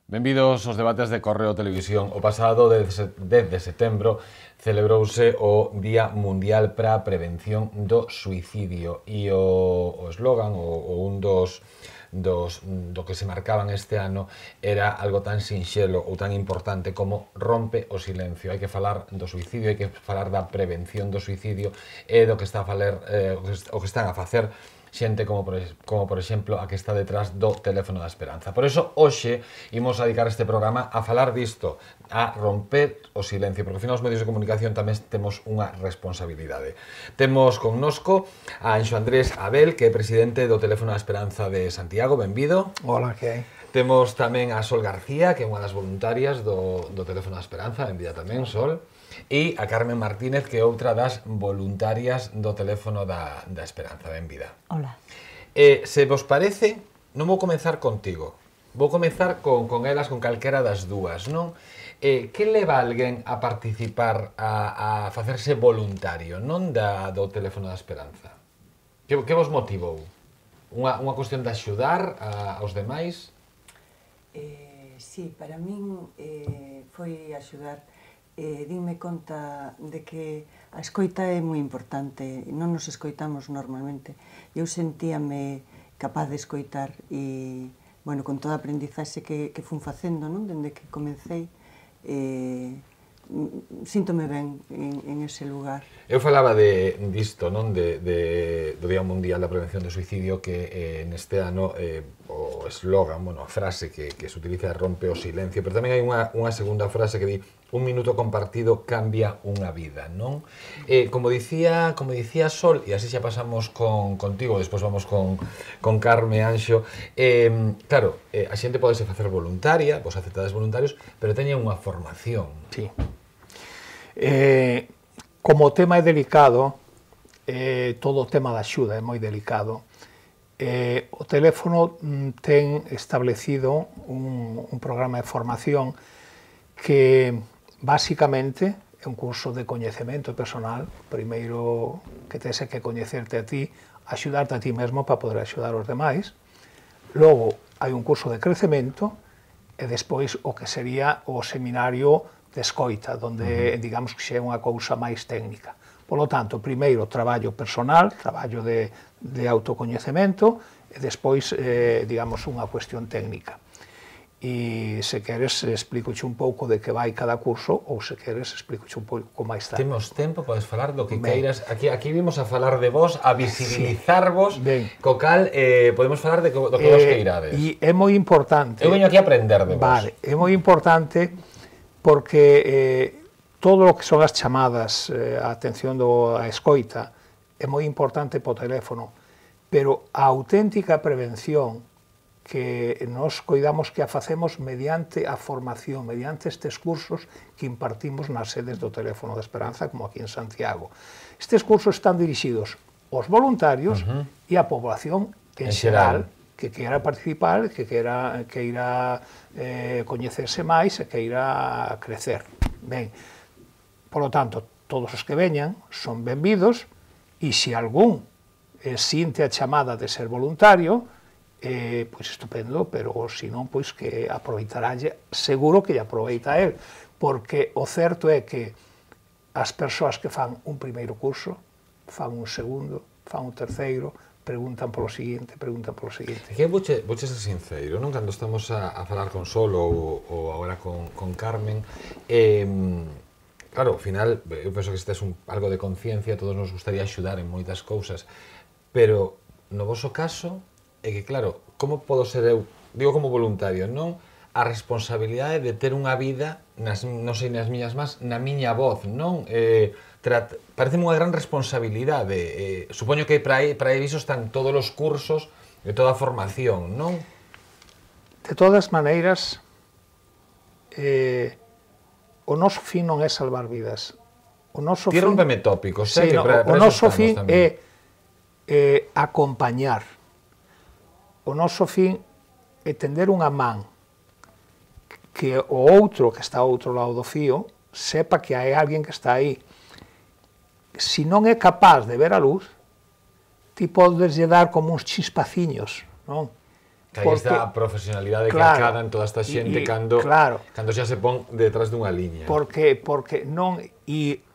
Benvidos aos debates de Correo Televisión. O pasado 10 de setembro celebrouse o Día Mundial para a Prevención do Suicidio e o eslogan, ou un do que se marcaban este ano era algo tan sinxelo ou tan importante como rompe o silencio. Hai que falar do suicidio, hai que falar da prevención do suicidio e do que está a falar, o que están a facer xente como por exemplo a que está detrás do teléfono da esperanza. Por eso, hoxe, imos a dedicar este programa a falar disto, a romper o silencio, porque ao final os medios de comunicación tamén temos unha responsabilidade. Temos connosco a Anxo Andrés Abel, que é presidente do Teléfono da Esperanza de Santiago. Benvido. Hola, que hai? Temos tamén a Sol García, que é unha das voluntarias do Teléfono da Esperanza. Benvida tamén, Sol. E a Carmen Martínez, que é outra das voluntarias do Teléfono da Esperanza. Benvida. Hola. Se vos parece, non vou comenzar contigo. Vou comenzar con elas, con calquera das dúas, non? Que leva alguén a participar, a facerse voluntario, non do Teléfono da Esperanza? Que vos motivou? Unha cuestión de axudar aos demais? Sí, para min foi axudar. Dime conta de que a escoita é moi importante, non nos escoitamos normalmente. Eu sentíame capaz de escoitar e, bueno, con toda a aprendizaxe que fun facendo, non? Dende que comecei, síntome ben en ese lugar. Eu falaba disto, non? Do Día Mundial da Prevención do Suicidio, que neste ano o eslogan, bueno, a frase que se utiliza é rompe o silencio, pero tamén hai unha segunda frase que di un minuto compartido cambia unha vida, non? Como dicía Sol, e así xa pasamos contigo, despois vamos con Carme, Anxo, claro, a xente podese facer voluntaria, vos aceptades voluntarios, pero teñen unha formación. Sí. Como o tema é delicado, todo o tema da axuda é moi delicado, o teléfono ten establecido un programa de formación que basicamente é un curso de coñecemento personal. Primeiro que tens que coñecerte a ti, axudarte a ti mesmo para poder axudar os demais. Logo hai un curso de crecemento e despois o que sería o seminario de escoita, donde digamos que xa é unha cousa máis técnica. Por lo tanto, primeiro traballo personal, traballo de autocoñecemento e despois, digamos, unha cuestión técnica. E se queres explicoche un pouco de que vai cada curso ou se queres explicoche un pouco máis tarde. Temos tempo, podes falar do que queiras. Aquí vimos a falar de vos, a visibilizarvos, co cal podemos falar do que vos queirades. E é moi importante... Eu veño aquí a aprender de vos. Vale, é moi importante porque todo o que son as chamadas, a atención a escoita, é moi importante po teléfono, pero a auténtica prevención que nos coidamos que a facemos mediante a formación, mediante estes cursos que impartimos nas sedes do Teléfono da Esperanza, como aquí en Santiago. Estes cursos están dirixidos aos voluntarios e á población en xeral, que queira participar, que queira coñecerse máis e que queira crecer. Ben, por lo tanto, todos os que veñan son benvidos e se algún sinte a chamada de ser voluntario, pois estupendo, pero se non, pois que aproveitarálle, seguro que lle aproveita a él, porque o certo é que as persoas que fan un primeiro curso, fan un segundo, fan un terceiro, preguntan polo seguinte, preguntan polo seguinte. Que vouche ser sincero, non? Cando estamos a falar con Sol ou agora con Carmen, claro, ao final, eu penso que este é algo de conciencia, todos nos gustaría axudar en moitas cousas, pero no voso caso, é que, claro, como podo ser eu, digo como voluntario, non? A responsabilidade de ter unha vida, non sei nas miñas más, na miña voz, non? Pareceme unha gran responsabilidade. Supoño que para iso están todos os cursos e toda a formación, non? De todas maneiras, o noso fin non é salvar vidas. O noso fin... Rómpeme tópicos, sei que para o noso fin é acompañar. O noso fin é tender unha man que o outro que está ao outro lado do fío sepa que hai alguén que está aí. Se non é capaz de ver a luz, ti podes lle dar como uns chispaciños, non? Que aí está a profesionalidade que acadan toda esta xente cando xa se pon detrás dunha liña. Porque non... E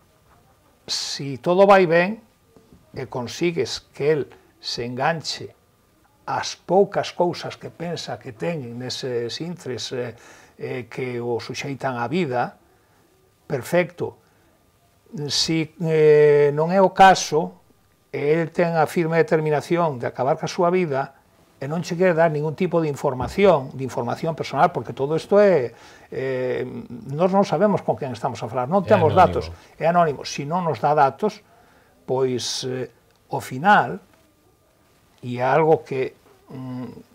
si todo vai ben e consigues que el se enganche as poucas cousas que pensa que ten neses intres que o suxeitan á vida, perfecto. Si non é o caso, el ten a firme determinación de acabar ca súa vida e non che quere dar ningún tipo de información personal, porque todo isto é... nós non sabemos con quen estamos a falar, non temos datos, é anónimo. Se non nos dá datos, pois, ao final, e é algo que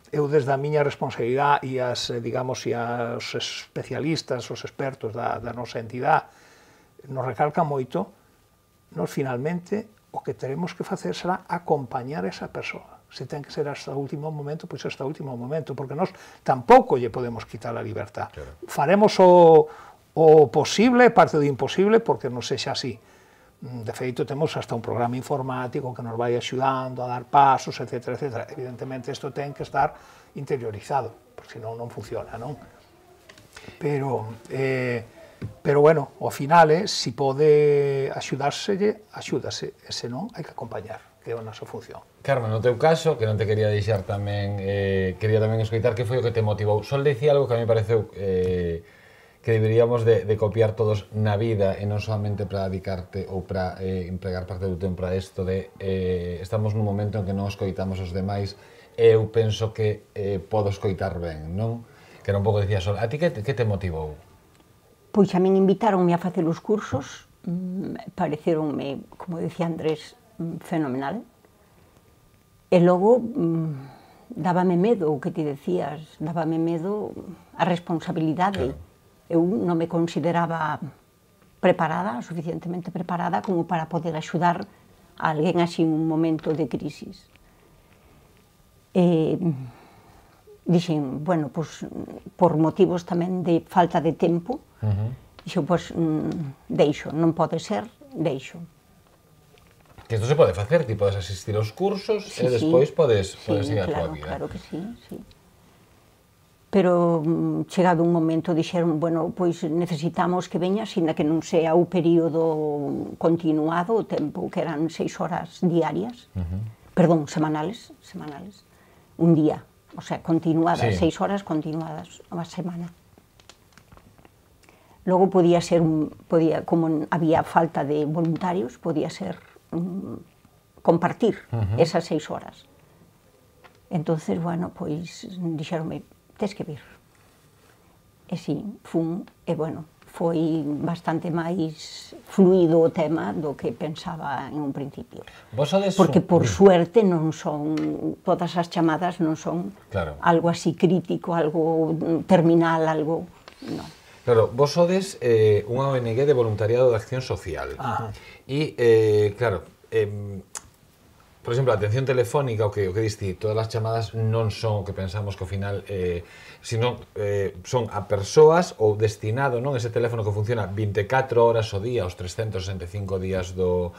eu desde a miña responsabilidade e as, digamos, e as especialistas, os expertos da nosa entidade, nos recalcan moito, nós finalmente o que teremos que facer será acompañar esa persoa. Se ten que ser hasta o último momento, pois hasta o último momento, porque nós tampouco lle podemos quitar a libertad. Claro. Faremos o posible, parte do imposible, porque non sexa así. De feito, temos hasta un programa informático que nos vai axudando a dar pasos, etc. etc. Evidentemente, isto ten que estar interiorizado, porque senón non funciona, non? Pero bueno, ao final, se pode axudárselle, axúdase, e senón, hai que acompañar, que é a nosa función. Carmen, no teu caso, que non te quería deixar tamén, quería tamén escoitar que foi o que te motivou. Sol dicía algo que a mí pareceu que deberíamos de copiar todos na vida e non solamente para dedicarte ou para empregar parte do tempo para isto de estamos nun momento en que non escoitamos os demais e eu penso que podo escoitar ben, non? Que era un pouco dicía Sol. A ti que te motivou? Pois a min invitáronme a facer os cursos, pareceronme, como decía Andrés, fenomenal. E logo dábame medo o que ti decías, dábame medo a responsabilidade. Claro. Eu non me consideraba preparada, suficientemente preparada como para poder axudar a alguén así en un momento de crisis. Dixen, bueno, pois, por motivos tamén de falta de tempo, dixen, pois, deixo, non pode ser, deixo. Que isto se pode facer, ti podes asistir aos cursos e despois podes seguir a tua vida. Claro que sí, sí. Pero chegado un momento dixeron, bueno, pois necesitamos que veñas, ainda que non sea o período continuado, o tempo que eran 6 horas diarias, perdón, semanales, un día, o sea, continuadas, 6 horas continuadas a semana. Logo podía ser, como había falta de voluntarios, podía ser compartir esas 6 horas. Entonces, bueno, pois dixeronme, tes que vir. E si, fun, e bueno, foi bastante máis fluido o tema do que pensaba en un principio. Porque, por suerte, non son, todas as chamadas non son algo así crítico, algo terminal, algo, non. Claro, vos sodes unha ONG de voluntariado de acción social. E, claro, por exemplo, a atención telefónica, o que diste, todas as chamadas non son o que pensamos que ao final, sino son a persoas ou destinado, non, ese teléfono que funciona 24 horas ao día, os 365 días do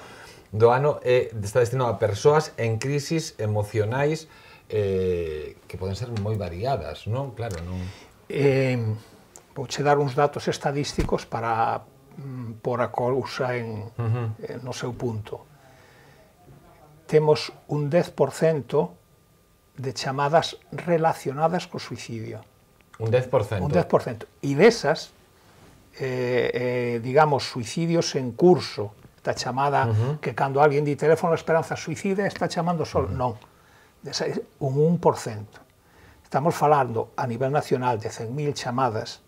ano, está destinado a persoas en crisis emocionais que poden ser moi variadas, non? Claro, non... Vouche dar uns datos estadísticos para pôr a cousa no seu punto. Temos un 10% de chamadas relacionadas co suicidio. Un 10%? Un 10%. E desas, digamos, suicidios en curso, esta chamada que cando alguén di teléfono a esperanza suicida está chamando só, non. Desa, un 1%. Estamos falando a nivel nacional de 100.000 chamadas.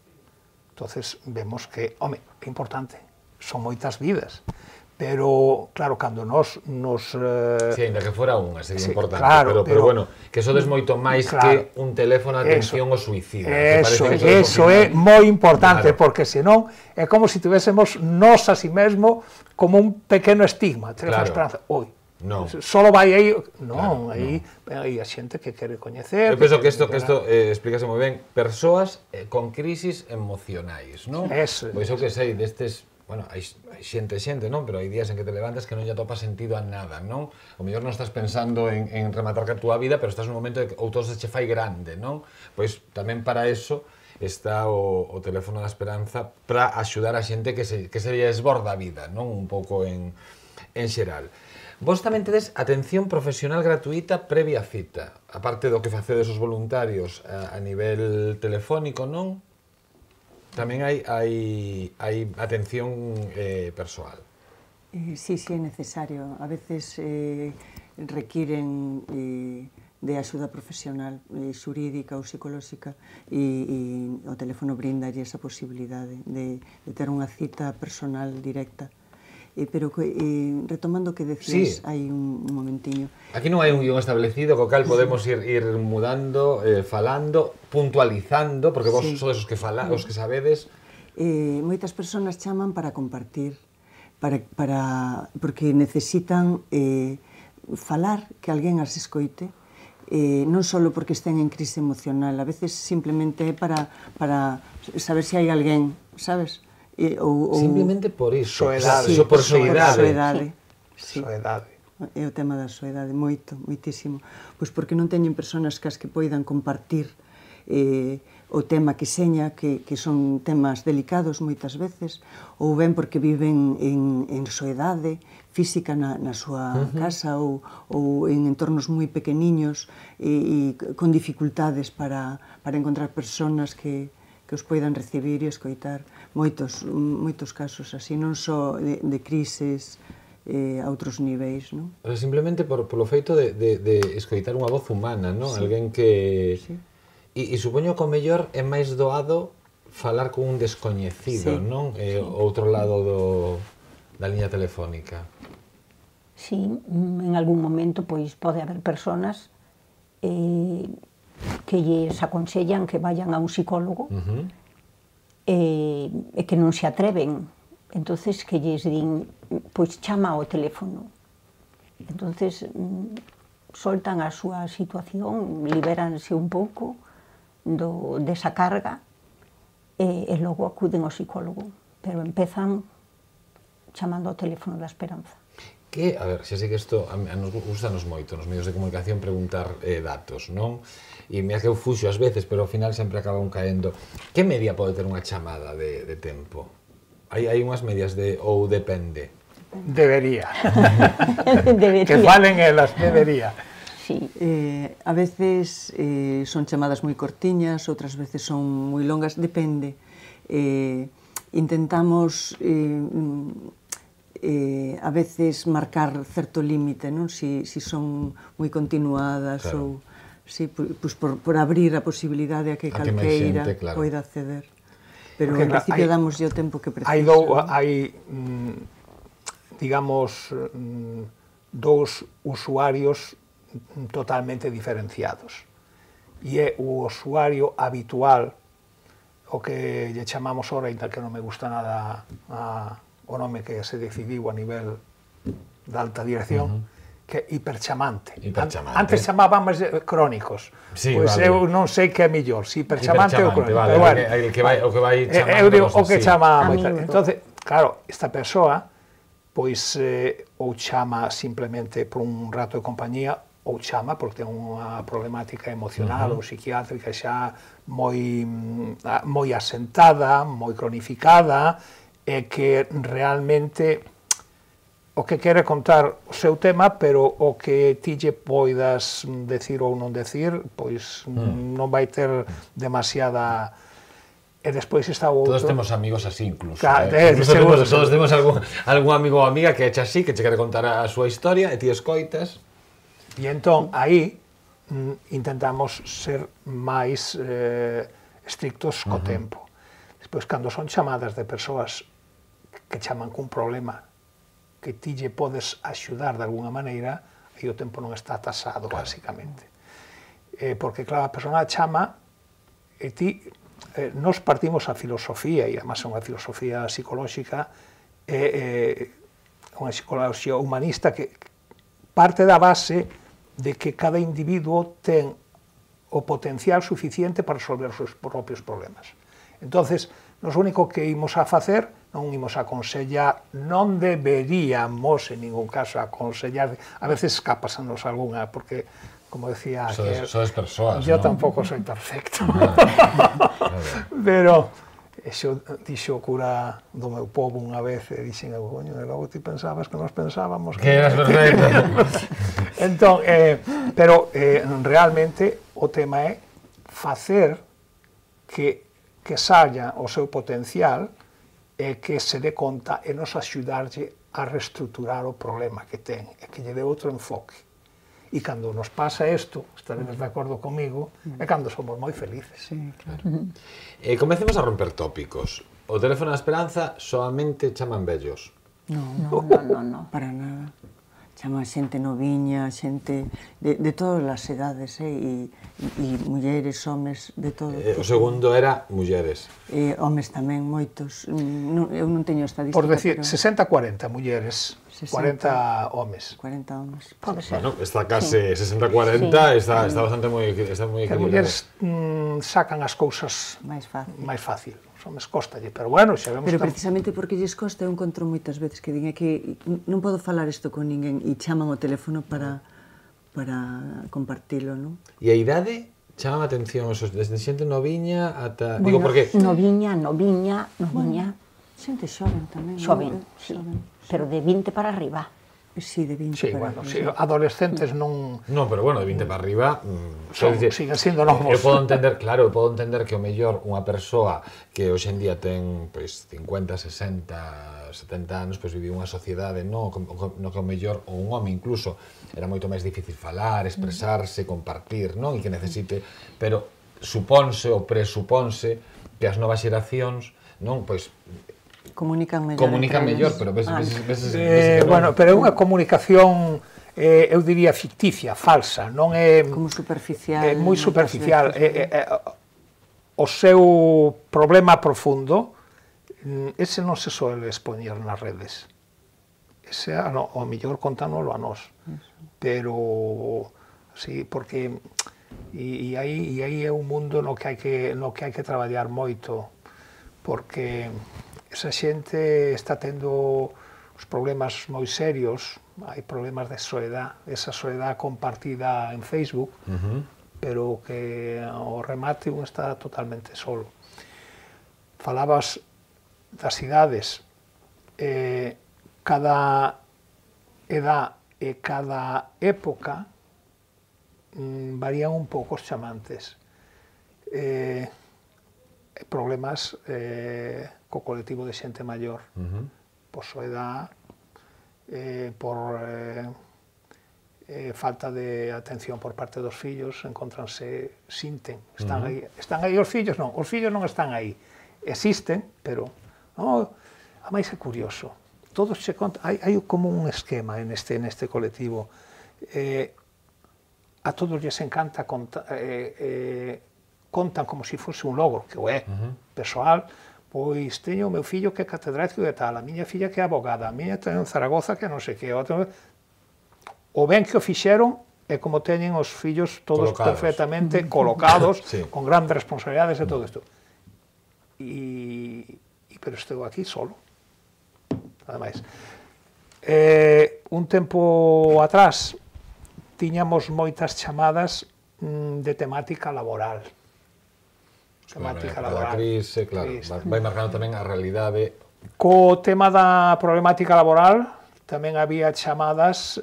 Entonces vemos que, home, é importante, son moitas vidas. Pero, claro, cando nos... Sí, ainda que fora unha, sería importante, pero bueno, que sodes moito máis que un teléfono de atención ao suicidio. Eso é moi importante, porque senón é como se tivésemos nós a si mesmo como un pequeno estigma, teléfono esperanza, oi, solo vai aí, non, aí a xente que quere coñecer. Eu penso que isto explícase moi ben, persoas con crisis emocionais, non? Eso. Pois eu que sei, destes bueno, hai xente, non? Pero hai días en que te levantas que non lle atopas sentido a nada, non? O mellor non estás pensando en rematar ca túa vida, pero estás nun momento de que ou todo se che fai grande, non? Pois tamén para eso está o teléfono da esperanza para axudar a xente que se lle esborda a vida, non? Un pouco en xeral. Vos tamén tedes atención profesional gratuita previa cita, aparte do que facedes os voluntarios a nivel telefónico, non? Tamén hai atención persoal. Sí, é necesario. A veces requiren de axuda profesional, xurídica ou psicolóxica, e o teléfono brinda esa posibilidade de ter unha cita personal directa. Pero retomando o que decías hai un momentiño. Aquí non hai un guión establecido co cal podemos ir mudando, falando, puntualizando, porque vos sodes os que sabedes. Moitas persoas chaman para compartir, porque necesitan falar, que alguén as escoite, non só porque estén en crise emocional, a veces simplemente é para saber se hai alguén, sabes? Simplemente por iso, por soedade. Soedade. É o tema da soedade, moitísimo. Pois porque non teñen persoas cas que poidan compartir o tema que seña, que son temas delicados moitas veces, ou ben porque viven en soedade física na súa casa ou en entornos moi pequeniños e con dificultades para encontrar persoas que os poidan recibir e escoitar. Moitos casos así, non só de crises a outros niveis, non? Simplemente polo feito de escoitar unha voz humana, non? Alguén que... E supoño que o mellor é máis doado falar con un descoñecido, non? Outro lado da liña telefónica. Sí, en algún momento pois pode haber persoas que lles aconsellan que vayan a un psicólogo e que non se atreven. Entonces que lles din, pois chama ao teléfono. Entonces soltan a súa situación, libéranse un pouco desa carga e logo acuden ao psicólogo. Pero empezan chamando ao teléfono da esperanza. Que, a ver, xa sei que isto nos gustanos moito nos medios de comunicación preguntar datos, non? E mira que eu fuxo ás veces, pero ao final sempre acaban caendo. Que media pode ter unha chamada de tempo? Hai unhas medias ou depende? Debería. Que falen elas, debería. Sí. A veces son chamadas moi cortiñas, outras veces son moi longas, depende. Intentamos a veces marcar certo límite, non? Si son moi continuadas ou por abrir a posibilidade a que calqueira poida acceder. Pero en principio damoslle o tempo que precisa. Hai digamos, dous usuarios totalmente diferenciados. E é o usuario habitual, o que lle chamamos ora, ainda que non me gusta nada o nome que se decidiu a nivel da alta dirección, que é hiperchamante. Antes chamábamos crónicos. Pois eu non sei que é mellor, se hiperchamante ou crónico. O que vai chamando. O que chama. Entón, claro, esta persoa pois ou chama simplemente por un rato de compañía, ou chama porque ten unha problemática emocional ou psiquiátrica xa moi asentada, moi cronificada, e que realmente o que quere contar o seu tema, pero o que ti lle poidas decir ou non decir, pois non vai ter demasiada... E despois está o outro... Todos temos amigos así, incluso. Todos temos algún amigo ou amiga que echa así, que che quere contar a súa historia, e ti escoitas. E entón, aí, intentamos ser máis estrictos co tempo. Despois, cando son chamadas de persoas que chaman cun problema que ti lle podes axudar de alguna maneira, aí o tempo non está tasado, basicamente. Porque, claro, a persona chama e ti... Nos partimos a filosofía, e además é unha filosofía psicolóxica, unha psicología humanista que parte da base de que cada individuo ten o potencial suficiente para resolver os seus propios problemas. Entonces, nos único que imos a facer, non imos a aconsellar, non deberíamos en ningún caso aconsellar, a veces escápasanos algunha, porque, como decía aquel, sodes persoas, yo ¿no? tampouco soy perfecto, pero xo dixo o cura do meu povo unha vez, e dixen, coño, e logo ti pensabas que nos pensábamos Que eras perfecto. Entón, pero realmente o tema é facer que saia o seu potencial e que se dé conta e nos axudarlle a reestruturar o problema que ten e que lle dé outro enfoque. E cando nos pasa isto, estaredes de acordo comigo, é cando somos moi felices. Sí, claro. Comecemos a romper tópicos. O teléfono da esperanza solamente chaman vellos. No. Para nada. Chama xente noviña, xente de todas as edades, e mulleres, homes, de todo. O segundo era mulleres. Homes tamén, moitos. Eu non teño estadística, Por decir, pero 60-40 mulleres, 40 homes. 40 homes. Pode ser. Bueno, está case 60-40, está bastante moi Que as equilibrado. mulleres sacan as cousas Máis fácil. máis fácil. Os homes cóstalle, pero bueno, xa vemos Pero que... precisamente porque lles costa, eu encontro moitas veces que din é que non podo falar isto con ninguén e chaman o teléfono para compartilo, non? E a idade chama a atención, desde xente noviña ata... Bueno, Digo, porque... noviña, Xente xoven tamén. xoven, non? sí, Xoven. pero de 20 para arriba. Sí, de 20 Sí, para bueno, arriba. sí, adolescentes non... No, pero bueno, de 20 para arriba... siguen sendo novos. Eu podo entender, claro, eu podo entender que o mellor unha persoa que hoxe en día ten pois 50, 60, 70 anos, pois vive unha sociedade no que o mellor, ou un home incluso, era moito máis difícil falar, expresarse, compartir, non? E que necesite, pero suponse ou presupónse que as novas xeracións, non, pois Comunican mellor. comunican entre mellor, eles. pero ves que non. Bueno, pero é unha comunicación, eu diría ficticia, falsa, non é... Como superficial. É moi moitas superficial. veces. O seu problema profundo, ese non se suele expoñer nas redes. Ese, o mellor contámoslo a nós. Pero, sí, porque... E aí é un mundo no que hai que traballar moito, porque esa xente está tendo os problemas moi serios, hai problemas de soedad, esa soedad compartida en Facebook, pero que ao remate un está totalmente solo. Falabas das idades, cada edad e cada época varían un pouco os chamantes. Problemas co colectivo de xente maior, por soedad, por falta de atención por parte dos fillos, encontranse, sinten, están aí os fillos non están aí, existen, pero a máis é curioso, todos se contan, hai como un esquema neste colectivo, a todos lles encanta contan como se fose un logro, que o é, persoal, pois teño o meu fillo que é catedrático de tal, a miña filla que é abogada, a miña ten en Zaragoza que non sei que, o ben que o fixeron é como teñen os fillos todos colocados. perfectamente colocados, Sí. con grandes responsabilidades e todo isto. Pero estou aquí solo, nada máis. Un tempo atrás tiñamos moitas chamadas de temática laboral. Cada crise, claro, vai marcando tamén a realidade. Co tema da problemática laboral tamén había chamadas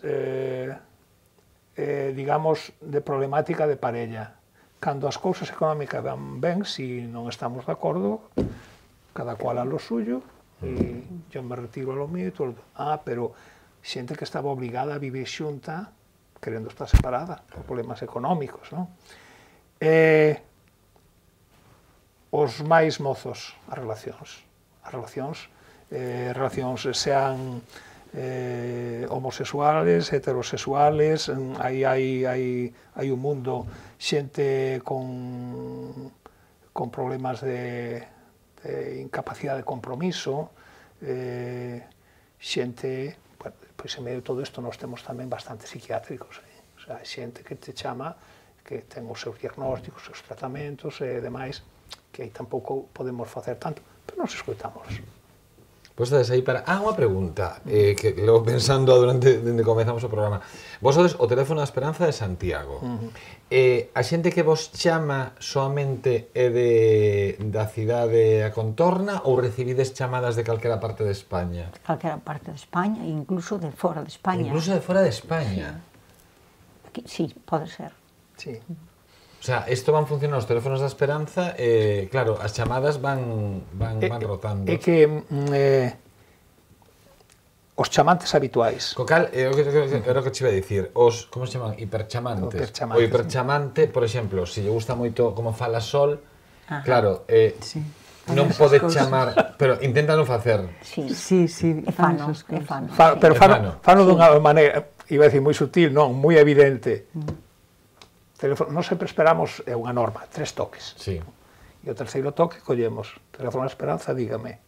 digamos de problemática de parella. Cando as cousas económicas van ben, si non estamos de acordo, cada cual a lo suyo, e yo me retiro a lo mío e todo. Pero xente que estaba obligada a vivir xunta querendo estar separada por problemas económicos, non? Os máis mozos, as relacións sean homosexuales, heterosexuales, hai un mundo, xente con problemas de incapacidade de compromiso, xente, pois en medio de todo isto nós temos tamén bastante psiquiátricos, o sea, xente que te chama que ten os seus diagnósticos, os seus tratamentos e demais, que aí tampouco podemos facer tanto, pero nos escoitamos. Pois estades aí para... unha pregunta que levo pensando durante dende comezamos o programa. Vos sodes o teléfono da Esperanza de Santiago. A xente que vos chama soamente é da cidade a contorna ou recibides chamadas de calquera parte de España? Calquera parte de España, incluso de fora de España. Incluso de fora de España? Sí, pode ser. Sí. O sea, isto van funcionando os teléfonos da Esperanza e, claro, as chamadas van rotando. É que os chamantes habituais. Co cal, era o que te iba a dicir, como se chaman? Hiperchamantes. O hiperchamante, por exemplo, se lle gusta moito como fala Sol, claro, non pode chamar, pero intenta non facer. Sí, É fano, é fano. Pero fano dunha maneira, iba a decir, moi sutil, non, moi evidente. Teléfono, non sempre esperamos, é unha norma, 3 toques. Sí. E o terceiro toque collemos, teléfono de Esperanza, dígame.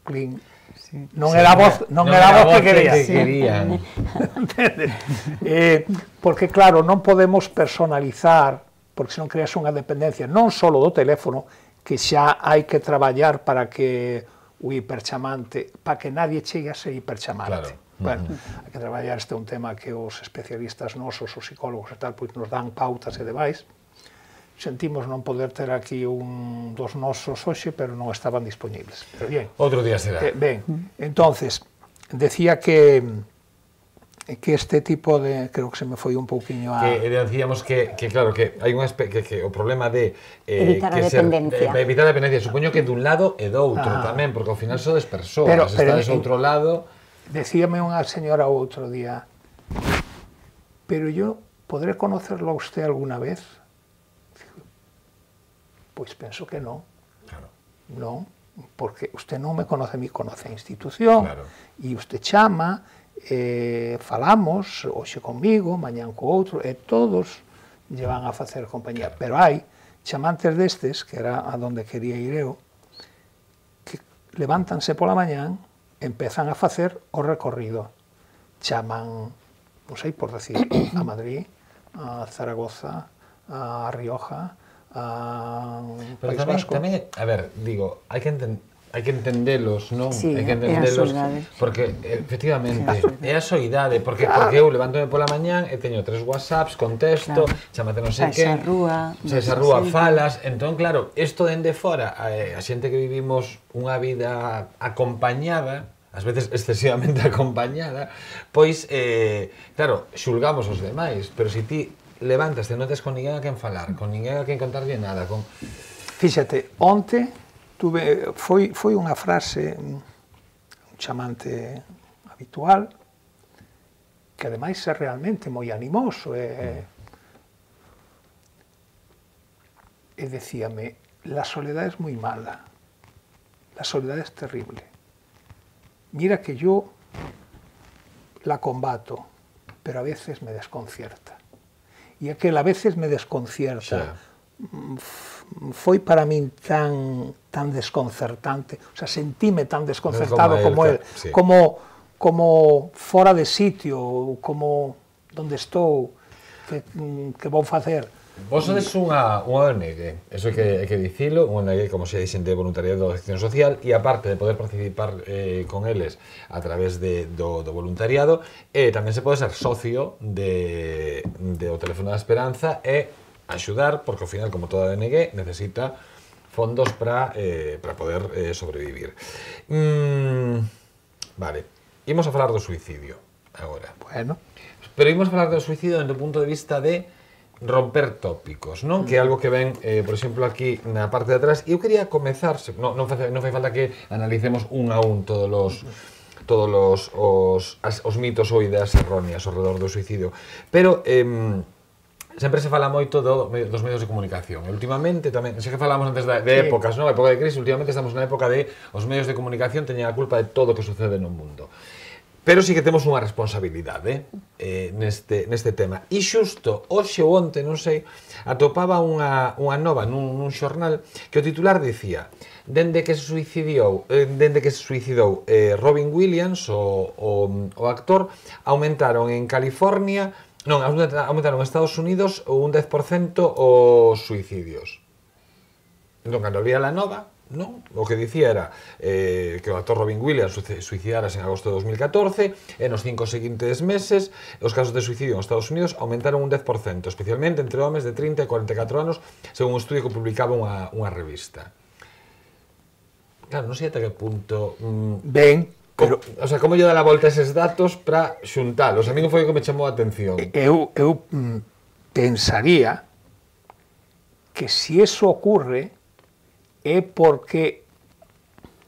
Cling. Sí. Non era a voz, non era a voz que querían. Entendes? Porque claro, non podemos personalizar, porque senón creas unha dependencia non só do teléfono, que xa hai que traballar para que o hiperchamante, para que nadie chegue a ser hiperchamante. Claro. Bueno, hai que traballar, este é un tema que os especialistas nosos, os psicólogos e tal, pois nos dan pautas e demais. Sentimos non poder ter aquí un dos nosos hoxe, pero non estaban disponibles. Pero bien. Outro día será. Ben, entonces, decía que este tipo de, creo que se me foi un pouquiño a... Que decíamos que claro, que hai unha que o problema de evitar a dependencia. Evitar a dependencia, supoño que dun lado e do outro tamén, porque ao final sodes persoas, estades outro lado. Decíame unha señora outro día, pero yo podré conocerlo a usted alguna vez? Pois penso que non. Claro. Non, porque usted non me conoce a mí, conoce a institución, Claro. e usted chama, falamos, hoxe comigo, mañán co outro, e todos lle van a facer compañía. Claro. Pero hai chamantes destes, que era a donde quería ir eu, que levántanse pola mañán, empezan a facer o recorrido. Chaman, non sei por decir, a Madrid, a Zaragoza, a Rioja, a Pero País Vasco. tamén, a ver, digo, hai que entendelos, non? Sí, hai que é a entendelos, soidade. porque efectivamente é a soidade, porque eu levántome pola mañán e teño 3 WhatsApps, contesto, chamate non sei que, saes a rúa, falas, entón claro, isto dende fora, a xente que vivimos unha vida acompañada, ás veces excesivamente acompañada, pois, claro, xulgamos os demais, pero se ti levantaste, non tes con ninguén a quen falar, con ninguén a quen contarlle nada, con... Fíxate, onte foi unha frase, un chamante habitual, que ademais é realmente moi animoso, e decíame, la soledad es muy mala, la soledad es terrible. Mira que yo la combato, pero a veces me desconcierta. E aquel a veces me desconcierta, foi para min tan desconcertante, o sea, sentíme tan desconcertado como él, sí. como fora de sitio, como donde estou, que vou facer. Vos sodes unha ONG, eso hai que dicilo, unha ONG, como se dixen, de voluntariado de acción social, e aparte de poder participar con eles a través do voluntariado, tamén se pode ser socio do Teléfono da Esperanza e axudar, porque ao final, como toda ONG, necesita fondos para poder sobrevivir. Vale, imos a falar do suicidio agora. Bueno. Pero imos a falar do suicidio desde o punto de vista de romper tópicos, non? Que é algo que ven, por exemplo, aquí na parte de atrás. E eu quería comezar, non fai falta que analicemos un a un todos os mitos ou ideas erróneas ao redor do suicidio, pero sempre se fala moito dos medios de comunicación. E últimamente tamén, sei que falamos antes de épocas, non? A época de crise, últimamente estamos na época de os medios de comunicación teñen a culpa de todo o que sucede no mundo. Pero sí que temos unha responsabilidade neste tema. E xusto, hoxe ou onte, non sei, atopaba unha nova nun xornal que o titular dicía: dende que se suicidou Robin Williams, o actor, aumentaron en California Non, aumentaron en Estados Unidos un 10% os suicidios. Non, cando había la nova, non? O que dicía era que o actor Robin Williams suicidarase en agosto de 2014 e nos 5 seguintes meses os casos de suicidio en Estados Unidos aumentaron un 10%, especialmente entre homes de 30 e 44 anos, según un estudio que publicaba unha revista. Claro, non sei ata que punto... Ben, pero... O sea, como lle dá a volta eses datos para xuntalos? A mí non foi o que me chamou a atención. Eu pensaría que se eso ocurre é porque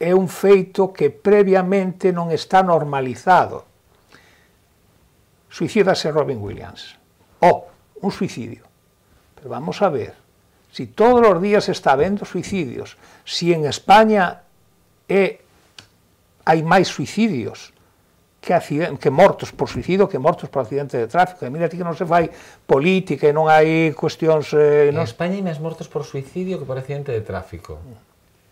é un feito que previamente non está normalizado. Suicídase Robin Williams. Un suicidio. Pero vamos a ver, si todos os días está habendo suicidios, si en España hai máis suicidios que mortos por suicidio que mortos por accidente de tráfico. E mira ti que non se fai política e non hai cuestións... En España hai máis mortos por suicidio que por accidente de tráfico.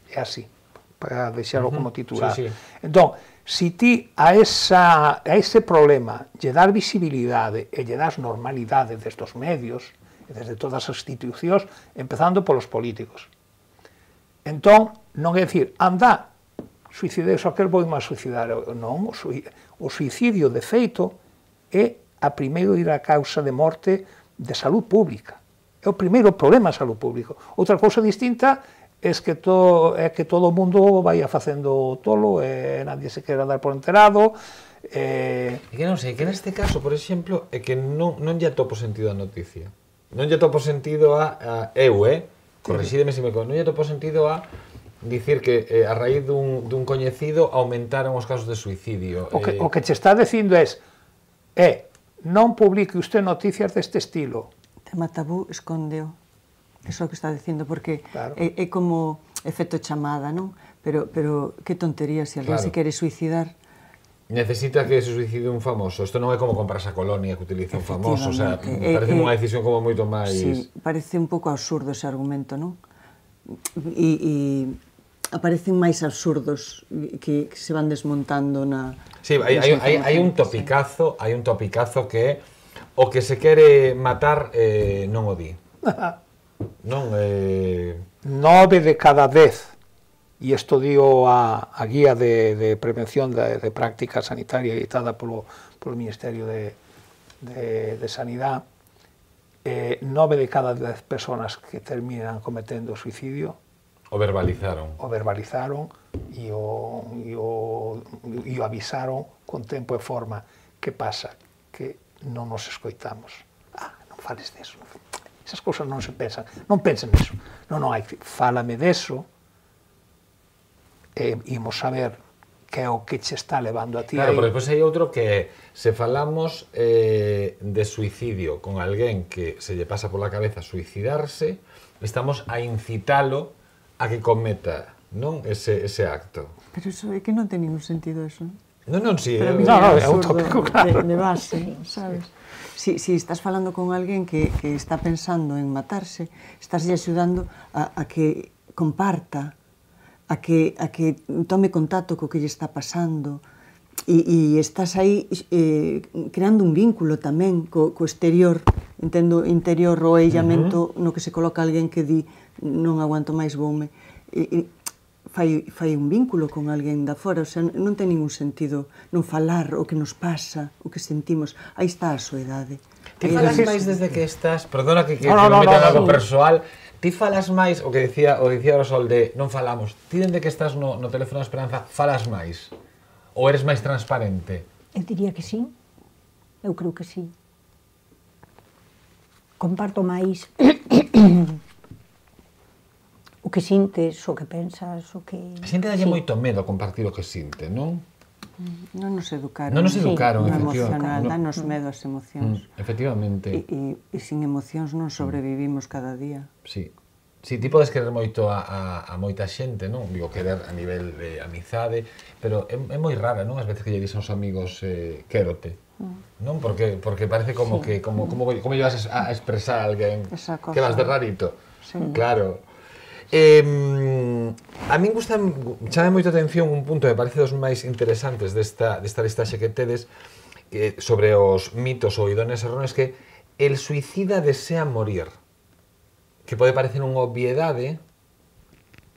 É así, para deixarlo como titular. Sí. Entón, si ti a ese problema lle das visibilidade e lle das normalidade desde os medios e desde todas as institucións, empezando polos políticos. Entón, non é dicir, anda, suicidei, só que vou máis suicidar. Non, o suicidio de feito é a primeira causa de morte de salud pública. É o primeiro problema de salud pública. Outra cousa distinta é que todo o mundo vai facendo tolo e nadie se quere dar por enterado. E que non sei, que neste caso, por exemplo, é que non lle atopo sentido a noticia. Non lle atopo sentido a eu, corrixídeme se me non lle atopo sentido a dicir que a raíz dun coñecido aumentaron os casos de suicidio. O que che está dicindo é non publique usted noticias deste estilo. Tema tabú escondeo. Eso que está dicindo, porque é como efecto chamada, non? Pero que tontería, se alguén se quere suicidar. Necesita que se suicide un famoso. Isto non é como comprarse a colonia que utiliza un famoso. O sea, parece unha decisión como moito máis... Sí, parece un pouco absurdo ese argumento, non? E aparecen máis absurdos que se van desmontando na... Sí, hai un topicazo que é o que se quere matar non o di. Non 9 de cada 10, e isto digo a guía de prevención de práctica sanitaria editada polo Ministerio de Sanidade, 9 de cada 10 personas que terminan cometendo suicidio o verbalizaron e o avisaron con tempo e forma. Que pasa? Que non nos escoitamos. Non fales deso. Esas cousas non se pensan. Non pensen niso. Non hai. Fálame deso e imos saber que é o que che está levando a ti. Claro, pero depois hai outro que se falamos de suicidio con alguén que se lle pasa pola cabeza suicidarse, estamos a incitalo a que cometa, non, ese acto. Pero eso é que non ten ningún sentido eso. Non, si, é un tópico, claro. De base, sabes? Si estás falando con alguén que está pensando en matarse, estás axudando a que comparta, a que tome contacto co que lle está pasando, e estás aí creando un vínculo tamén co exterior, entendo, interior o illamento no que se coloca alguén que di non aguanto máis, voume, fai un vínculo con alguén da fora, o sea, non ten ningún sentido non falar o que nos pasa, o que sentimos. Aí está a soidade. Ti falas máis desde que estás, perdona que non meta algo persoal, ti falas máis, o que dicía o Sol de non falamos, ti dende que estás no teléfono da Esperanza, falas máis? Ou eres máis transparente? Eu diría que sí, eu creo que sí. Comparto máis o que sintes, o que pensas, o que... A xente dalle moito medo compartir o que sinte, non? Non nos educaron. Non nos educaron, efectivamente. Danos medo as emocións. Efectivamente. E sin emocións non sobrevivimos cada día. Sí. Si, ti podes querer moito a moita xente, non? Digo, querer a nivel de amizade, pero é moi rara, non? As veces que lle dixen aos amigos quérote. Non? Porque parece como que como llevas a expresar a alguén que vas de rarito. Claro. A min chame moito a atención un punto que me parece dos máis interesantes desta listaxe que tedes, sobre os mitos ou idóneas erróneas que el suicida desea morir, que pode parecer unha obviedade,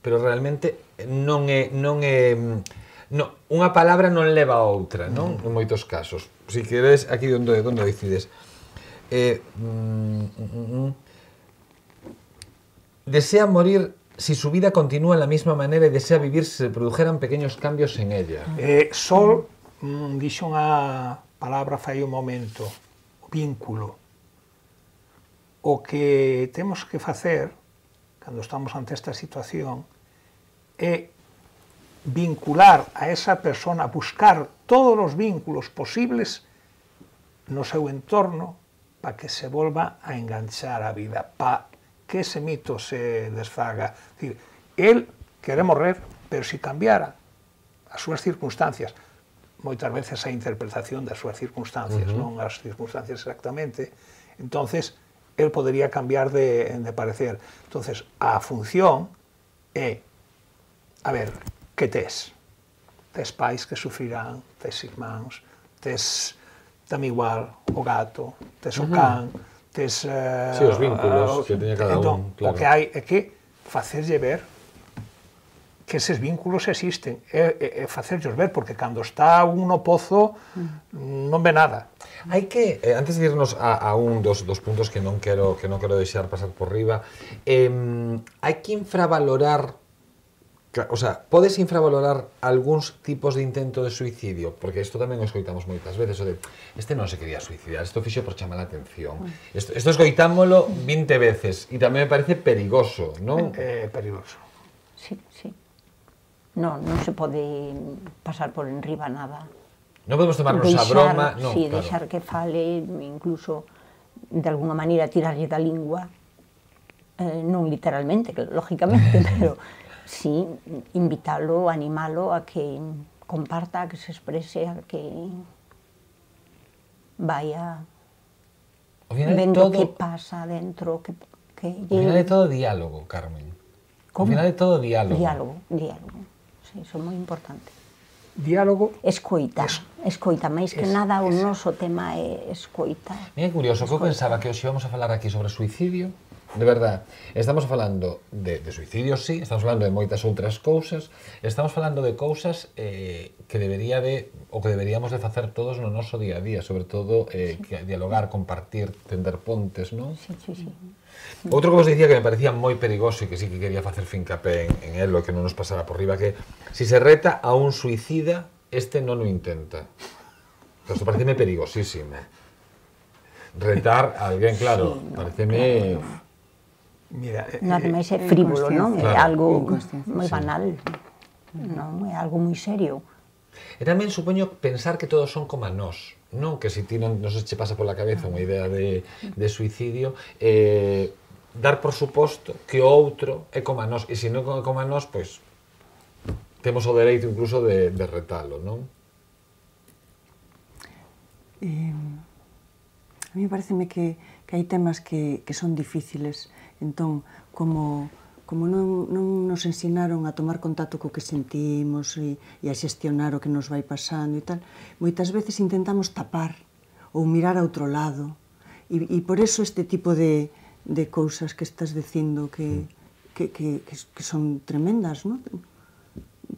pero realmente non é unha palabra non leva a outra, non? En moitos casos. Si queres, aquí onde decides. Desea morir si su vida continúa en la misma manera y desea vivir si se produjeran pequeños cambios en ella. Sol dixo unha palabra fai un momento, o vínculo. O que temos que facer, cando estamos ante esta situación, é vincular a esa persona, buscar todos os vínculos posibles no seu entorno para que se volva a enganchar a vida, para que ese mito se desfaga. É dicir, el quere morrer, pero se cambiara as súas circunstancias, moitas veces a interpretación das súas circunstancias, non as circunstancias exactamente, entonces el podería cambiar de parecer. Entonces, a función é, a ver, que tes? Tes pais que sufrirán, tes irmáns, tes tamén igual o gato, tes o can, tes... Sí, os vínculos que teña cada un, claro. O que hai é que facerlle ver que eses vínculos existen, é facerllos ver, porque cando está un no pozo non ve nada. Hai que, antes de irnos a un dos puntos que non quero deixar pasar por riba, hai que infravalorar, o sea, podes infravalorar algúns tipos de intento de suicidio, porque isto tamén o escoitamos moitas veces, o de, este non se quería suicidar, isto fixo por chamar a atención. Isto escoitámolo 20 veces, e tamén me parece perigoso, non? Perigoso. Sí, sí. Non se pode pasar por enriba nada. Non podemos tomarnos a broma, non, sí, claro. Deixar que fale, incluso de alguna maneira tirarlle da lingua, non literalmente, lógicamente, pero sí, invitalo, animalo a que comparta, a que se exprese, a que vaya vendo que pasa dentro, que ao final é todo diálogo, Carmen. Ao final é todo diálogo. Diálogo. Sí, iso é moi importante. Diálogo... Escoita, máis que nada o noso tema é escoita. Mira, curioso, que eu pensaba que hoxe íbamos a falar aquí sobre suicidio, de verdad. Estamos falando de suicidio, sí, estamos falando de moitas outras cousas, estamos falando de cousas que deberíamos de facer todos no noso día a día, sobre todo dialogar, compartir, tender pontes, non? Sí. Outro que vos dicía que me parecía moi perigoso e que sí que quería facer fincapé en él, que non nos pasara por riba, que si se reta a un suicida, este non o intenta. Isto pareceme perigosísimo. Retar a alguén, claro, pareceme... Mira, nada máis é frívolo, non? É algo moi banal, non? É algo moi serio. E tamén supoño pensar que todos son como a nós, non? Que se ti non se che pasa pola cabeza unha idea de suicidio, dar por suposto que o outro é como a nós, e se non é como a nós, pois temos o dereito incluso de retalo, non? A mí pareceme que hai temas que son difíciles, entón, como non nos ensinaron a tomar contacto co que sentimos e a xestionar o que nos vai pasando e tal, moitas veces intentamos tapar ou mirar a outro lado e por eso este tipo de cousas que estás dicindo que son tremendas, non?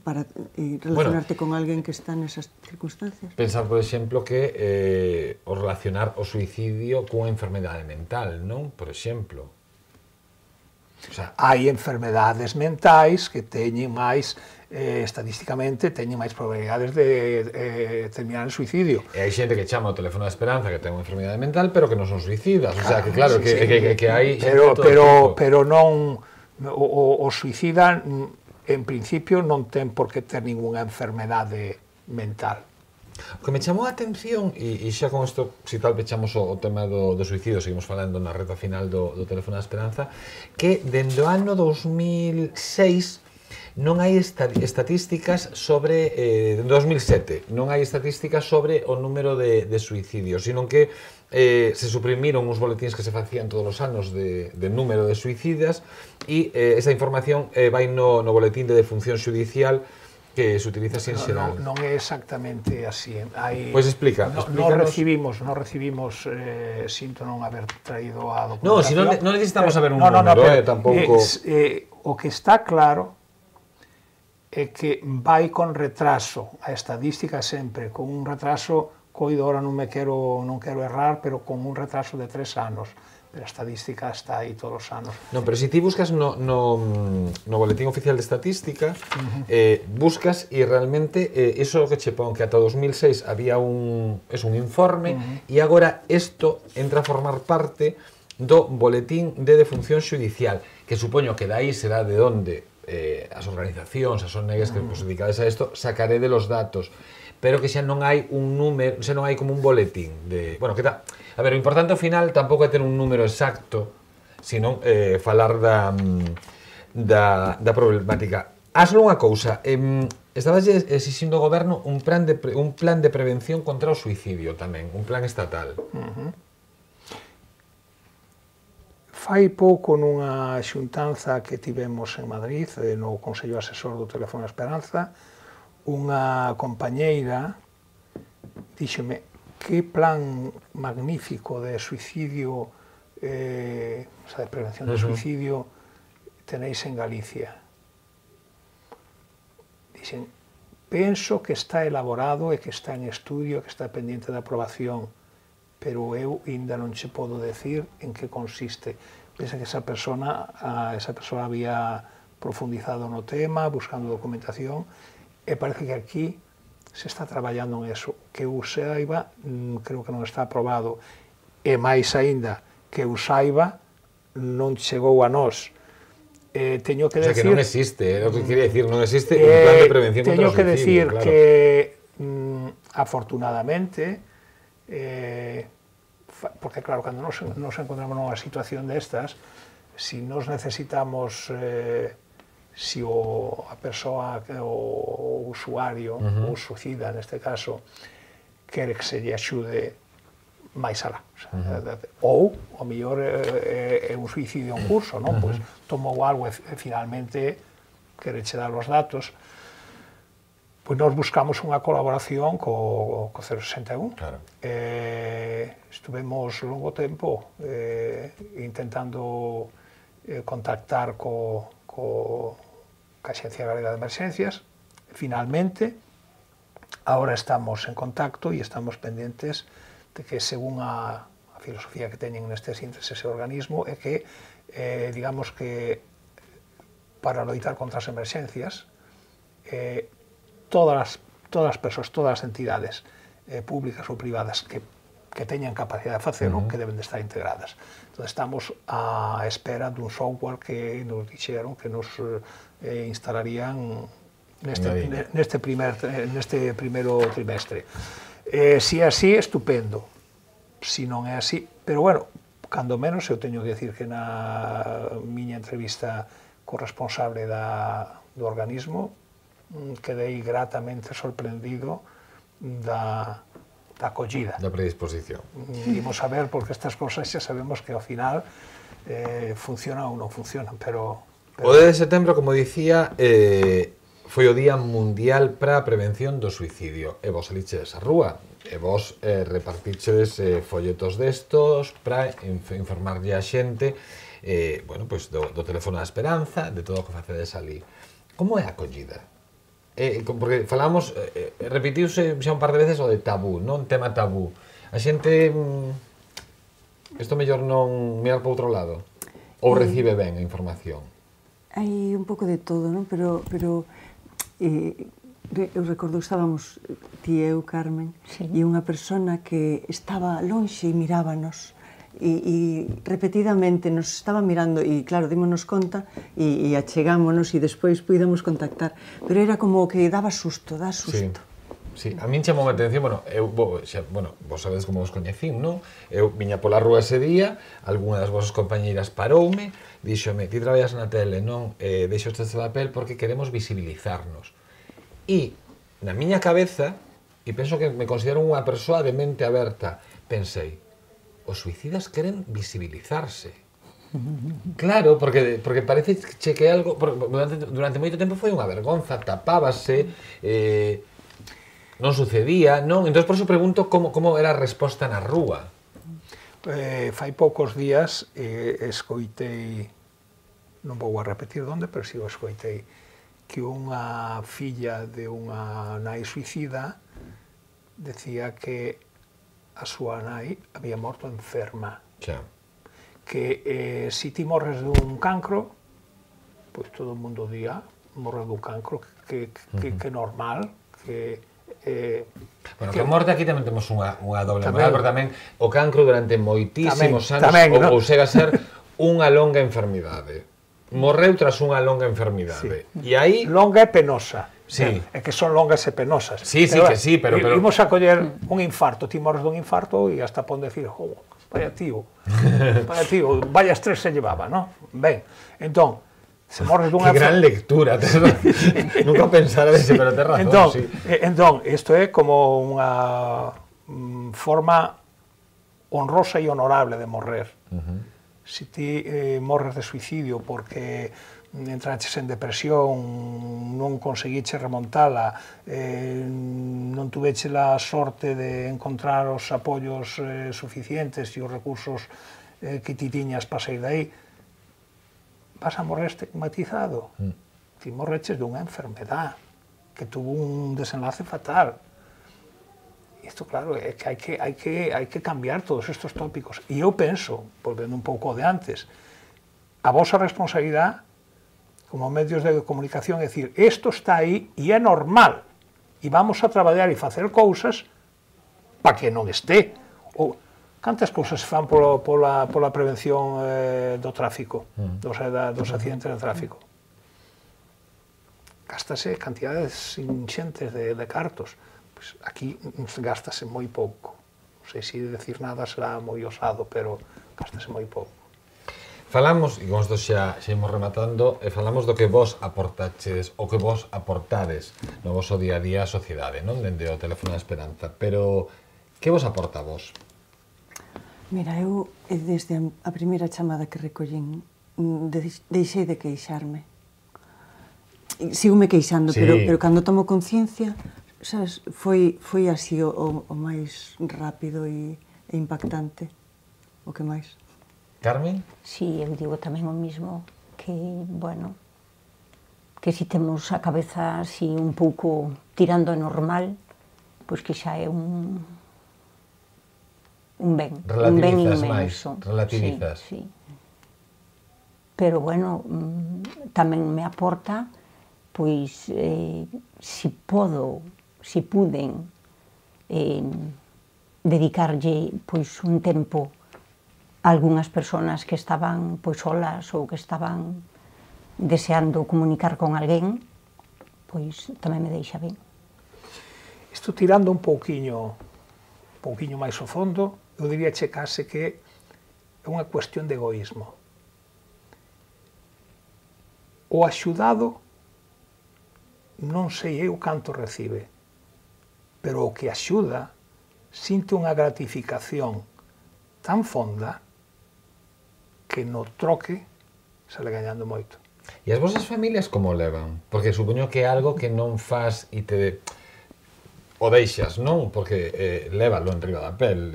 Para relacionarte con alguén que está nesas circunstancias. Pensar, por exemplo, que o relacionar o suicidio cunha enfermedade mental, non? Por exemplo. O sea, hai enfermedades mentais que teñen máis, estadísticamente, teñen máis probabilidades de terminar en suicidio. E hai xente que chama o teléfono da esperanza que ten unha enfermedade mental, pero que non son suicidas. O sea, que claro, que hai... Pero non... O suicida, en principio, non ten por que ter ninguna enfermedade mental. O que me chamou a atención, e xa con isto, se tal, pechamos o tema do suicidio, seguimos falando na reta final do teléfono da esperanza, que dende o ano 2006 non hai estatísticas sobre, dende 2007, non hai estatísticas sobre o número de suicidios, sino que se suprimiron uns boletíns que se facían todos os anos de número de suicidas e esa información vai no boletín de defunción xudicial que se utiliza así en xeral. Non é exactamente así. Pois explica, explícanos. Non recibimos, sinto non haber traído a No, si non necesitamos saber un número, tampouco. O que está claro é que vai con retraso. A estadística sempre con un retraso, coido, ahora non quero errar, pero con un retraso de 3 anos. Pero a estadística está aí todos os anos. Non, pero se ti buscas no Boletín Oficial de Estatística, buscas e realmente iso que che pon que ata 2006 había un informe e agora isto entra a formar parte do Boletín de Defunción Xudicial, que supoño que dai será de onde as organizacións, as ONGs que vos dedicades a isto, sacaré de los datos, pero que xa non hai un número, xa non hai como un boletín de, bueno, que tal. A ver, o importante ao final tampouco é ter un número exacto, sino falar da problemática. Hazlo unha cousa, estabas exixindo ao goberno un plan de prevención contra o suicidio tamén, un plan estatal. Fai pouco nunha xuntanza que tivemos en Madrid, no Consello Asesor do Teléfono Esperanza, unha compañeira díxeme que plan magnífico de suicidio, de prevención de suicidio tenéis en Galicia. Dixen, penso que está elaborado e que está en estudio, que está pendiente de aprobación, pero eu ainda non che podo decir en que consiste. Pensa que esa persona había profundizado no tema, buscando documentación, e parece que aquí se está traballando en eso. Que eu saiba, creo que non está aprobado, e máis aínda, que eu saiba, non chegou a nós. Teño que decir... O sea, que non existe, é o que quería decir, non existe un plan de prevención contra o suicidio. Teño que decir claro. Que, afortunadamente, porque claro, cando nos encontramos nunha situación destas, si nos necesitamos... si a persoa, o usuario, o suicida neste caso, quere que se lle axude máis alá. Ou, o mellor, é un suicidio en curso, non? Pois tomou algo e finalmente quere che dar os datos. Pois nós buscamos unha colaboración co 061. Claro. Estuvemos longo tempo intentando contactar co Axencia Galega de Emerxencias. Finalmente, ahora estamos en contacto e estamos pendentes de que, según a filosofía que teñen neste ese organismo, é que, digamos que, para loitar contra as emerxencias, todas as persoas, todas as entidades públicas ou privadas que teñan capacidade de facelo, que deben de estar integradas. Entón, estamos á espera dun software que nos dixeron que nos instalarían neste primeiro trimestre. Si é así, estupendo. Si non é así, pero bueno, cando menos eu teño que decir que na miña entrevista co responsable do organismo quedei gratamente sorprendido da acollida. Da predisposición. Imos a ver, porque estas cosas xa sabemos que ao final funcionan ou non funcionan, pero... O 10 de setembro, como dicía, foi o Día Mundial para a Prevención do Suicidio. E vos salichedes a rúa, e vos repartichedes folletos destos para informarlle a xente bueno, pois do teléfono da esperanza, de todo o que facedes ali. Como é a acollida? Porque falamos, repetiuse xa un par de veces o de tabú, non? Tema tabú. A xente, isto mellor non mirar para outro lado? Ou recibe ben a información? Hai un pouco de todo, non? Pero eu recordo, estábamos ti e eu, Carmen, e unha persona que estaba lonxe e mirábanos, e repetidamente nos estaba mirando, e claro, dímonos conta, e achegámonos, e despois puidamos contactar, pero era como que daba susto, dá susto. Sí, a min chamou a atención, vos sabedes como vos coñecín, non? Eu viña pola rúa ese día, algunha das vosas compañeiras paroume, díxome, ti traballas na tele, non? Deixo este papel porque queremos visibilizarnos. E, na miña cabeza, e penso que me considero unha persoa de mente aberta, pensei, os suicidas queren visibilizarse. Claro, porque parece que algo... Durante moito tempo foi unha vergonza, tapábase, non sucedía, non? Entón, por iso pregunto como era a resposta na rúa. Fai poucos días escoitei, non vou a repetir onde, pero si o escoitei, que unha filla de unha nai suicida decía que a súa nai había morto enferma. Xa. Que si ti morres dun cancro, pois todo o mundo día morre dun cancro, que normal, que... Bueno, que a morte aquí tamén temos unha doble moral, porque tamén o cancro durante moitísimos anos ou chega a ser unha longa enfermidade. Morreu tras unha longa enfermidade. E aí... Longa e penosa. Sí. É que son longas e penosas. Sí, sí, que sí, pero... Imos a coller un infarto, ti morres dun infarto e hasta pon decir, vaya tío, vaya estrés se llevaba, non? Ben, entón, se morres dunha... Que gran lectura, nunca pensara dese, pero ten razón, entón, sí. Entón, isto é como unha forma honrosa e honorable de morrer. Se ti morres de suicidio porque entraches en depresión, non conseguiche remontala, non tuveche a sorte de encontrar os apoios suficientes e os recursos que ti tiñas para sair dai, vas a morrer estigmatizado. Ti morreches dunha enfermedad que tuvo un desenlace fatal. Isto, claro, é que hai que cambiar todos estes tópicos. E eu penso, volvendo un pouco de antes, a vosa responsabilidade como medios de comunicación é dicir, isto está aí e é normal, e vamos a traballar e facer cousas para que non este. Ou, cantas cousas se fan pola prevención do tráfico, dos accidentes de tráfico? Gástase cantidades inxentes de cartos. Pois aquí gástase moi pouco. Non sei se decir nada será moi osado, pero gástase moi pouco. Falamos, e con isto xa imos rematando, falamos do que vos aportaches, o que vos aportades no vosso día a día a sociedade, non? Dende o Teléfono da Esperanza. Pero, que vos aporta a vos? Mira, eu, desde a primeira chamada que recollín, deixei de queixarme. Sigo-me queixando, sí. pero cando tomo conciencia, sabes, foi así o máis rápido e impactante, o que máis. Carmen? Sí, eu digo tamén o mismo, que, bueno, que si temos a cabeza así un pouco tirando a normal, pois que xa é un ben. Relativizas máis, relativizas. Sí, sí. Pero, bueno, tamén me aporta, pois, si puden dedicarlle, pois, un tempo a algunhas persoas que estaban, pois, solas ou que estaban deseando comunicar con alguén, pois, tamén me deixa ben. Isto tirando un pouquiño máis ao fondo, eu diría case que é unha cuestión de egoísmo. O axudado non sei eu canto recibe, pero o que axuda sinte unha gratificación tan fonda que no troque sale gañando moito. E as vosas familias como levan? Porque supoño que é algo que non faz e te... o deixas, non? Porque lévalo en riba da pel.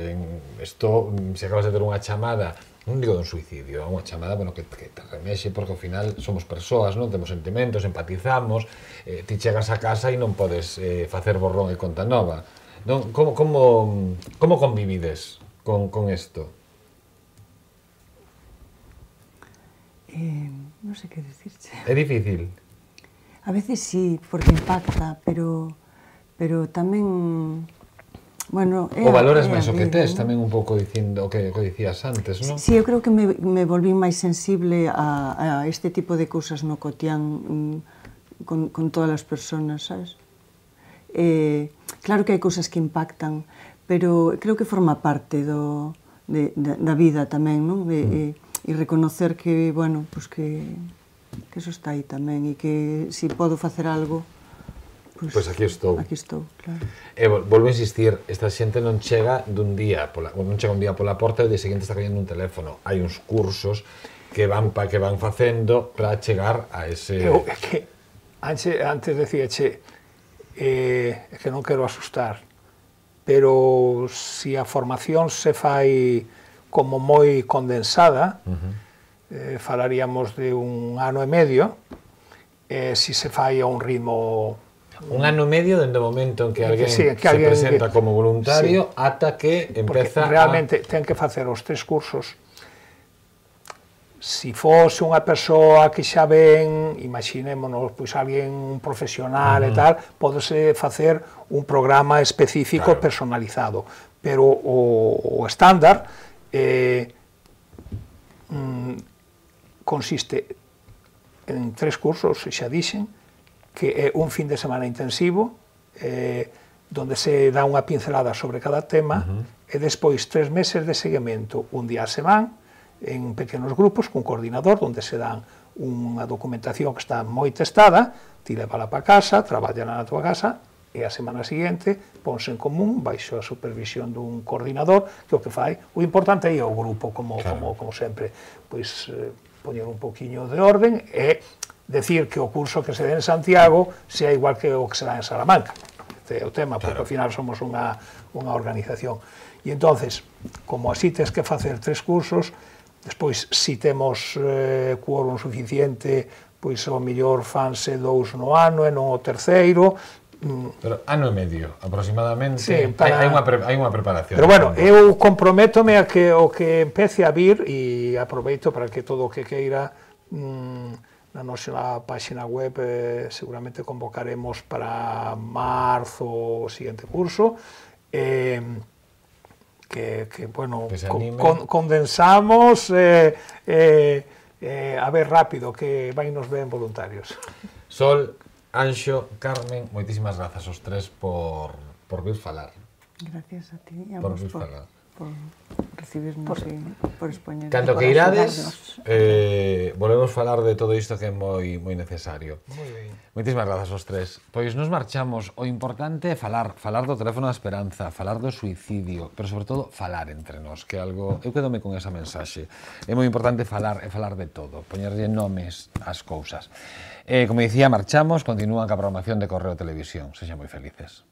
Isto, se acabas de ter unha chamada, non digo dun suicidio, unha chamada, bueno, que te remexe, porque ao final somos persoas, non? Temos sentimentos, empatizamos, ti chegas a casa e non podes facer borrón e conta nova. Non? Como convivides con isto? Non sei que dicirche. É difícil? A veces sí, porque impacta, pero tamén... Bueno, o valoras máis o que tes, tamén un pouco dicindo o que dicías antes, non? Sí, eu creo que me volví máis sensible a este tipo de cousas no cotián con todas as persoas, sabes? Claro que hai cousas que impactan, pero creo que forma parte da vida tamén, non? E reconocer que, bueno, pues que eso está aí tamén e que se podo facer algo, pois aquí estou. Aquí estou, claro. E volvo a insistir, esta xente non chega un día pola porta e o día seguinte está collendo un teléfono. Hai uns cursos que van facendo para chegar a ese... É que antes decíache, é que non quero asustar, pero se a formación se fai como moi condensada, falaríamos de 1 ano e medio, se se fai a un ritmo... 1 ano e medio dende o momento en que alguén sí, se presenta como voluntario ata que empeza realmente ten que facer os 3 cursos. Si fose unha persoa que xa ven, imaginémonos, pois alguén un profesional e tal, pódese facer un programa específico personalizado, pero o estándar consiste en 3 cursos, xa dixen, que é un fin de semana intensivo, donde se dá unha pincelada sobre cada tema, e despois 3 meses de seguimento, un día a semana, en pequenos grupos, cun coordinador, onde se dan unha documentación que está moi testada, ti levala para casa, traballala na tua casa, e a semana seguinte ponse en común, baixo a supervisión dun coordinador, que o que fai, o importante é o grupo, como sempre, pois poñer un poquinho de orden e decir que o curso que se dé en Santiago sea igual que o que se dá en Salamanca. Este é o tema, porque ao final somos unha organización. E entonces, como así tes que facer 3 cursos, despois, si temos quórum suficiente, pois ao mellor fanse 2 no ano e non o terceiro. Pero ano e medio, aproximadamente, sí, hai unha preparación. Pero bueno, eu comprométome a que o que empece a vir, e aproveito para que todo o que queira, na nosa página web seguramente convocaremos para marzo o siguiente curso, que bueno, condensamos a ver rápido, que vai nos ben voluntarios. Sol, Anxo, Carmen, moitísimas grazas aos 3 por vir falar. Gracias a ti e a por vos vir falar. por recibirnos e por expoñer. Canto que irades, volvemos falar de todo isto que é moi necesario. Moi ben. Moitísimas grazas aos 3. Pois nos marchamos. O importante é falar do teléfono da esperanza, falar do suicidio, pero sobre todo falar entre nós, que é algo... Eu quedome con esa mensaxe. É moi importante falar de todo, poñerlle nomes ás cousas. Como dicía, marchamos, continúan ca programación de Correo Televisión. Sexan moi felices.